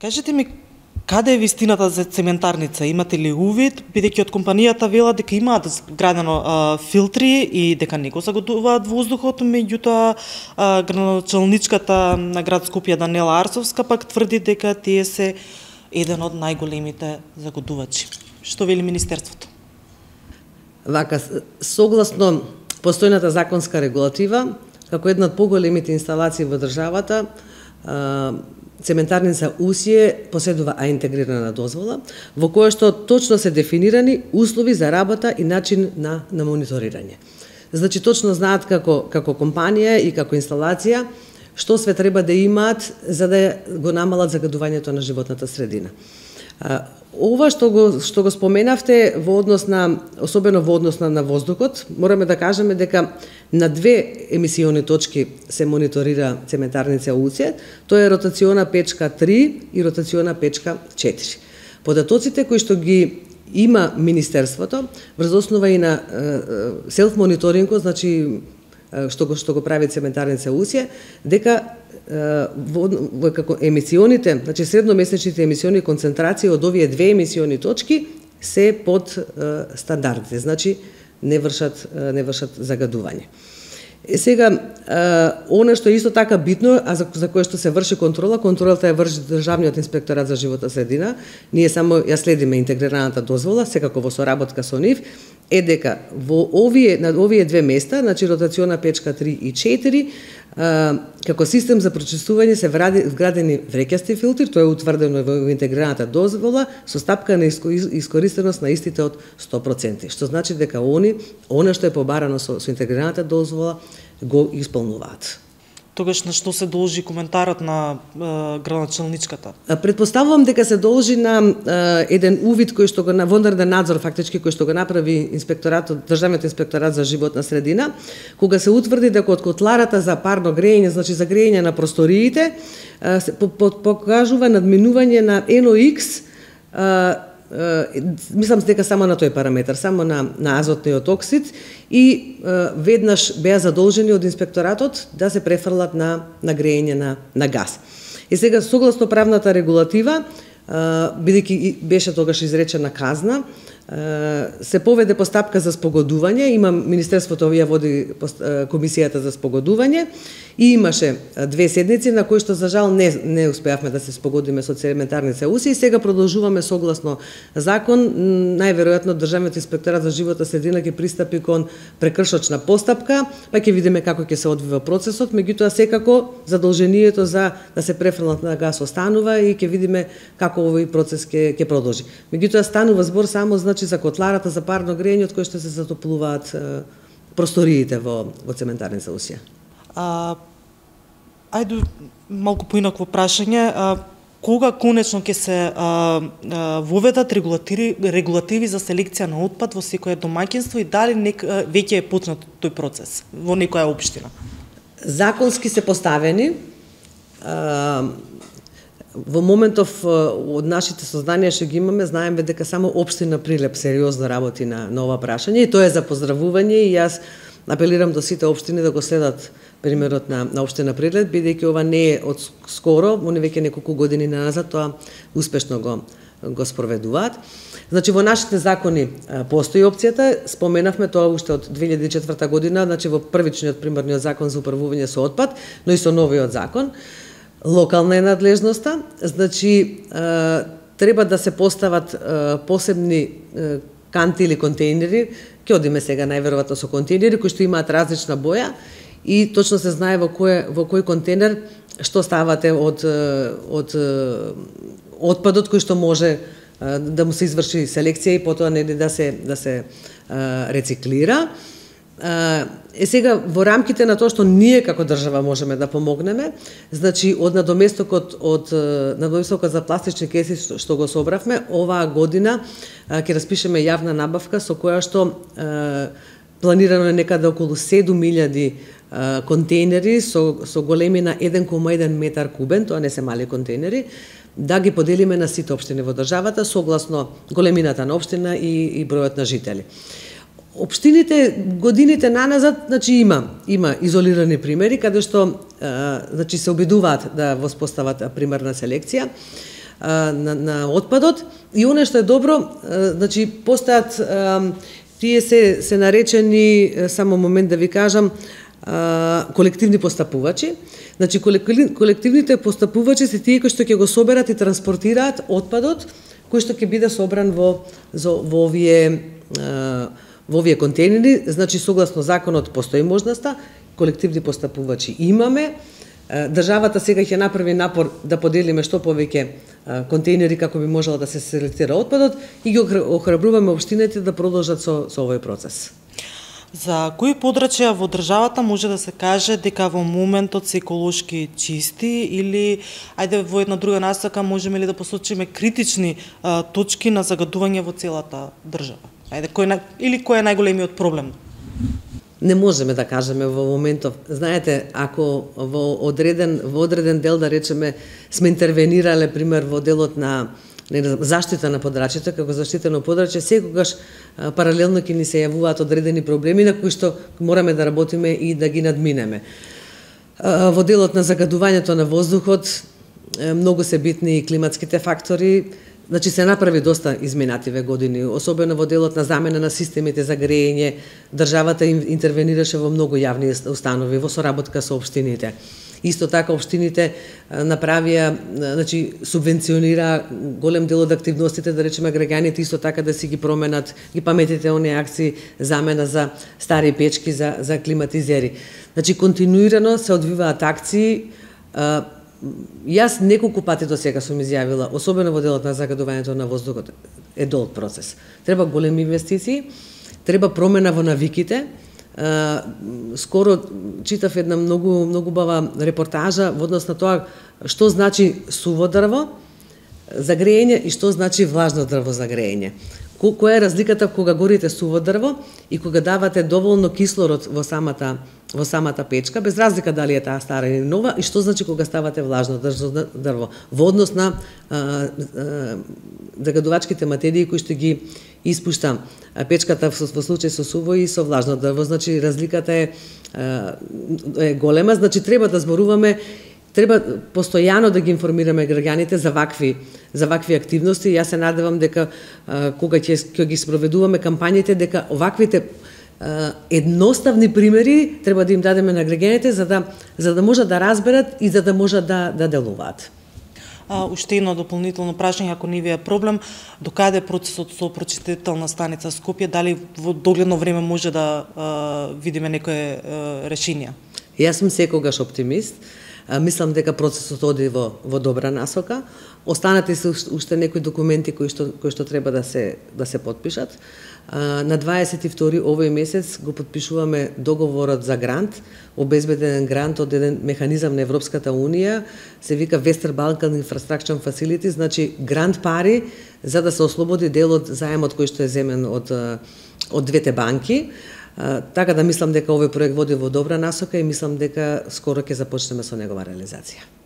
Кажете ми, каде е вистината за цементарница? Имате ли увид, бидејќи од компанијата велат дека имаат градено филтри и дека не го загадуваат воздухот, меѓутоа градоначалничката на град Скопје Данела Арсовска пак тврди дека тие се еден од најголемите загадувачи. Што вели Министерството? Вака, согласно постојната законска регулатива, како една од поголемите инсталации во државата, цементарница Усие поседува интегрирана дозвола, во која што точно се дефинирани услови за работа и начин на мониторирање. Значи, точно знаат како компанија и како инсталација што све треба да имаат за да го намалат загадувањето на животната средина. Ова што го споменавте во однос на, особено во однос на воздухот, мораме да кажеме дека на две емисиони точки се мониторира цементарница Усие, тоа е ротациона печка 3 и ротациона печка 4. Податоците кои што ги има Министерството, врз основа и на селф-мониторингот, значи што го прави цементарница Усие, дека како емисионите, значи средномесечните емисиони концентрации од овие две емисиони точки се под стандардите, значи не вршат загадување. Сега, она што е исто така битно, а за кое што се врши контролата ја врши Државниот инспекторат за животна средина, ние само ја следиме интегрираната дозвола, секако во соработка со нив, е дека на овие две места, значи ротациона печка 3 и 4, како систем за прочистување се вградени вреќасти филтри, тоа е утврдено во интегрираната дозвола, со стапка на искористеност на истите од 100%, што значи дека она што е побарано со интегрираната дозвола го исполнуваат. Тогаш на што се должи коментарот на градоначалничката? Предпоставувам дека се должи на еден увид кој што го на вонреден надзор фактички кој што го направи Државниот инспекторат за животна средина, кога се утврди дека од котларата за парно грејење, значи за грејење на просториите, покажува надминување на NOx, мислам дека само на тој параметар, само на азотниот оксид, и веднаш беа задолжени од инспекторатот да се префрлат на грејење на газ. И сега, согласно правната регулатива, бидејќи беше тогаш изречена казна, се поведе постапка за спогодување, Министерството ја води комисијата за спогодување и имаше две седници на кои што за жал не успеавме да се спогодиме со цементарница Усие и сега продолжуваме согласно закон, најверојатно Државниот инспекторат за животна средина ќе пристапи кон прекршочна постапка, па ќе видиме како ќе се одвива процесот, меѓутоа секако задолжението за да се префрлат на газ останува и ќе видиме како овој процес ќе продолжи. Меѓутоа станува збор само значи за котларата за парно грејење од кој што се затоплуваат просториите во цементарница Усие. Ајде малку поинакво прашање. Кога конечно ќе се воведат регулативи за селекција на отпад во секое домаќинство и дали веќе е почнат тој процес во некоја општина? Законски се поставени. Во моментов од нашите сознанија што ги имаме, знаеме дека само општина Прилеп сериозно работи на ова прашање и тоа е за поздравување и јас апелирам до сите општини да го следат примерот на општина Прилеп, бидејќи ова не е од скоро, они веќе неколку години назад тоа успешно го спроведуваат. Значи во нашите закони постои опцијата, споменавме тоа уште од 2004 година, значи во првичниот примерниот закон за управување со отпад, но и со новиот закон. Локална е надлежноста, значи треба да се постават посебни канти или контейнери, ќе одиме сега најверојатно со контейнери кои што имаат различна боја и точно се знае во кој контейнер што ставате од отпадот кој што може да му се изврши селекција и потоа да се рециклира. Сега во рамките на тоа што ние како држава можеме да помогнеме, значи од надоместокот за пластични кеси што го собравме, оваа година ќе распишеме јавна набавка со која што планирано е некаде околу 7.000 контейнери со големина 1,1 метар кубен, тоа не се мали контейнери, да ги поделиме на сите општини во државата согласно големината на општина и бројот на жители. Општините годините наназад, значи има изолирани примери каде што значи се обидуваат да воспостават примерна селекција. на отпадот. И оно што е добро, значи постојат тие се наречени, само момент да ви кажам, колективни постапувачи. Значи колективните постапувачи се тие кои што ќе го соберат и транспортираат отпадот кој што ќе биде собран во овие контейнери. Значи согласно законот постои можноста, колективни постапувачи имаме. Државата сега ќе направи напор да поделиме што повеќе контейнери како би можело да се селектира отпадот и ги охрабруваме општините да продолжат со овој процес. За кои подрачја во државата може да се каже дека во моментот се еколошки чисти или, ајде во една друга насока, можеме ли да посочиме критични точки на загадување во целата држава? Ајде, кој е најголемиот проблем? Не можеме да кажеме во моментов. Знаете, ако во одреден дел, да речеме, сме интервенирале, пример, во делот на заштита на подрачјето, како заштитено подрачје, секогаш паралелно ќе ни се јавуваат одредени проблеми на кои што мораме да работиме и да ги надминеме. Во делот на загадувањето на воздухот, многу се битни и климатските фактори. Значи се направи доста изминативе години, особено во делот на замена на системите за грејење. Државата интервенираше во многу јавни установи, во соработка со општините. Исто така општините направија, значи субвенционира голем дел од активностите, да речеме граѓаните исто така да си ги променат, ги паметите оние акции замена за стари печки за климатизери. Значи континуирано се одвиваат акции. Јас неколку пати до сега сум изјавила, особено во делот на загадувањето на воздухот, е долг процес. Треба големи инвестиции, треба промена во навиките. Скоро читав една многу бава репортажа во однос на тоа што значи суво дрво за грејење и што значи влажно дрво за грејење. Која е разликата кога горите суво дрво и кога давате доволно кислород во самата печка, без разлика дали е таа стара или нова, и што значи кога ставате влажно дрво во однос на загадувачките материи кои што ги испушта печката во случај со суво и со влажно дрво. Значи разликата е голема, значи треба да зборуваме. Треба постојано да ги информираме граѓаните за вакви активности. Јас се надевам дека кога ќе ги спроведуваме кампањите, дека оваквите едноставни примери треба да им дадеме на граѓаните за да можат да разберат и за да можат да делуваат. Уште едно дополнително прашање, ако не ви е проблем, докаде процесот со прочистителна станица Скопје, дали во догледно време може да видиме некое решение? Јас сум секогаш оптимист. Мислам дека процесот оди во добра насока. Останати се уште некои документи кои што треба да се подпишат. На 22 овој месец го подпишуваме договорот за грант, обезбеден грант од еден механизам на Европската Унија, се вика Western Balkan Infrastructure Facility, значи грант пари за да се ослободи дел од заемот кој што е земен од двете банки. Така да мислам дека овој проект води во добра насока и мислам дека скоро ќе започнеме со негова реализација.